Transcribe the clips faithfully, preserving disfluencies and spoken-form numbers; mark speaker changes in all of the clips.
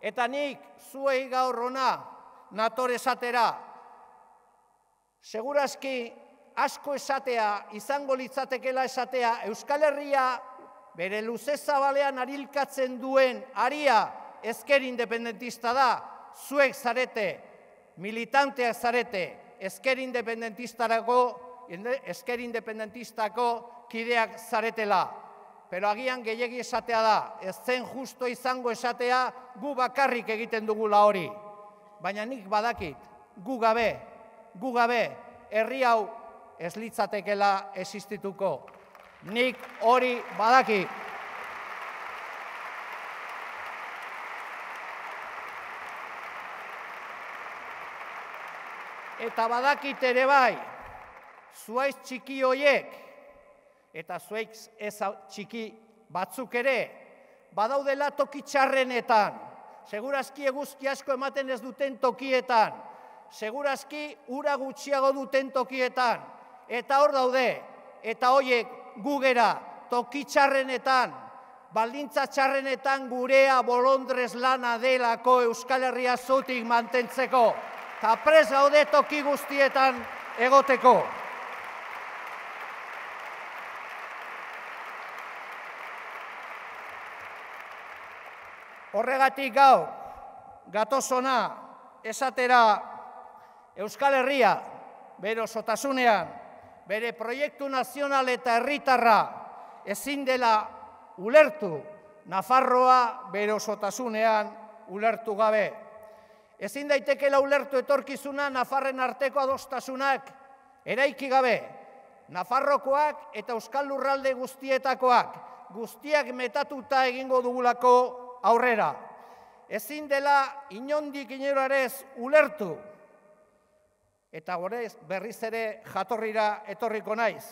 Speaker 1: Eta nik zuei gaur hona nator esatera, segurazki asko esatea, izango litzatekela esatea, Euskal Herria bere luze zabalean arilkatzen duen aria ezker independentista da, zuek zarete, militanteak zarete, ezker independentistarako, ezker independentistako kideak zaretela. Pero agian gehiegi esatea da, ez zen justo izango esatea, gu bakarrik egiten dugula hori. Baina nik badakit, gu gabe, gu gabe, herri hau ez litzatekela existituko. Nik hori badakit. Eta badakit ere bai, zuaiz txiki hoiek, eta zuaiz ez txiki batzuk ere, badaudela toki txarrenetan, segurazki eguzki asko ematen ez duten tokietan, segurazki ura gutxiago duten tokietan, eta hor daude, eta hoiek gugera toki txarrenetan, baldintza txarrenetan gurea bolondrez lana delako Euskal Herria zutik mantentzeko, eta prest gaude toki guztietan egoteko. Horregatik gaur, gatozona esatera Euskal Herria, bere osotasunean, bere proiektu nazional eta herritarra ezin dela ulertu, Nafarroa bere osotasunean ulertu gabe. Ezin daitekela ulertu etorkizuna Nafarren arteko adostasunak eraiki gabe. Nafarrokoak eta Euskal Lurralde guztietakoak, guztiak metatuta egingo dugulako aurrera. Ezin dela inondik inorarez ulertu. Eta gorez berriz ere jatorrira etorriko naiz.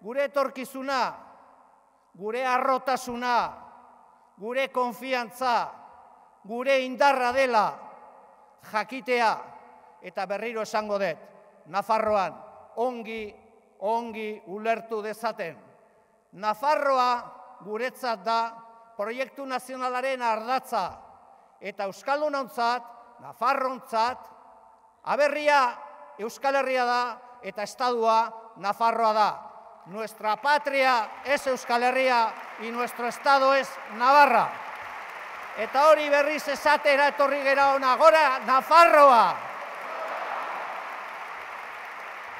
Speaker 1: Gure etorkizuna, gure harrotasuna, gure konfiantza, gure indarra dela, jakitea, eta berriro esango dut, Nafarroan ongi, ongi ulertu dezaten. Nafarroa guretzat da proiektu nazionalaren ardatza, eta euskaldunontzat, Nafarrontzat, aberria Euskal Herria da, eta estadua Nafarroa da. Nuestra patria es Euskal Herria, y nuestro estado es Navarra. Eta hori berriz esatera etorri gera ona, gora Nafarroa!